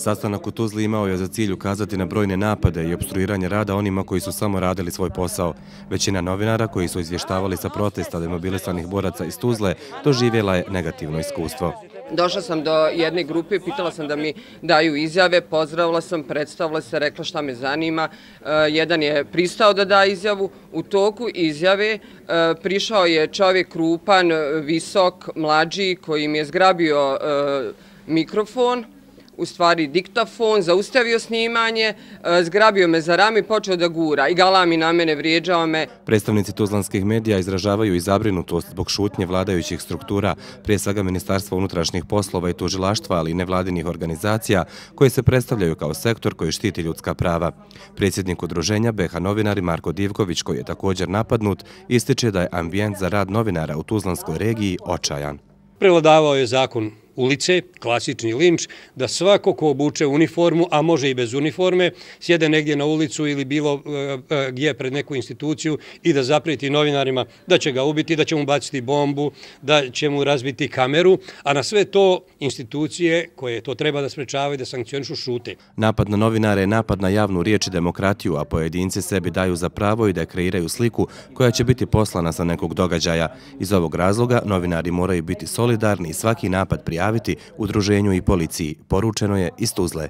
Sastanak u Tuzli imao je za cilj ukazati na brojne napade i opstruiranje rada onima koji su samo radili svoj posao. Većina novinara koji su izvještavali sa protesta demobilisanih boraca iz Tuzle doživjela je negativno iskustvo. Došla sam do jedne grupe, pitala sam da mi daju izjave, pozdravila sam, predstavila se, rekla šta me zanima. Jedan je pristao da da izjavu. U toku izjave prišao je čovjek krupan, visok, mlađi, koji mi je zgrabio mikrofon, u stvari diktafon, zaustavio snimanje, zgrabio me za rame i počeo da gura i galami na mene, vrijeđao me. Predstavnici tuzlanskih medija izražavaju i zabrinutost zbog šutnje vladajućih struktura, prije svega Ministarstva unutrašnjih poslova i tužilaštva, ali i nevladinih organizacija koje se predstavljaju kao sektor koji štiti ljudska prava. Predsjednik udruženja BiH novinari Marko Divković, koji je također napadnut, ističe da je ambijent za rad novinara u tuzlanskoj regiji očajan. Prevladavao je zakon ulice, klasični linč, da svako ko obuče uniformu, a može i bez uniforme, sjede negdje na ulicu ili bilo gdje pred neku instituciju i da zaprijeti novinarima da će ga ubiti, da će mu baciti bombu, da će mu razbiti kameru, a na sve to institucije koje to treba da sprečavaju, da sankcionišu, šute. Napad na novinare je napad na javnu riječ i demokratiju, a pojedinci sebi daju za pravo i da kreiraju sliku koja će biti poslana sa nekog događaja. Iz ovog razloga novinari moraju biti solidarni i svaki napad prijaviti udruženju i policiji, poručeno je iz Tuzle.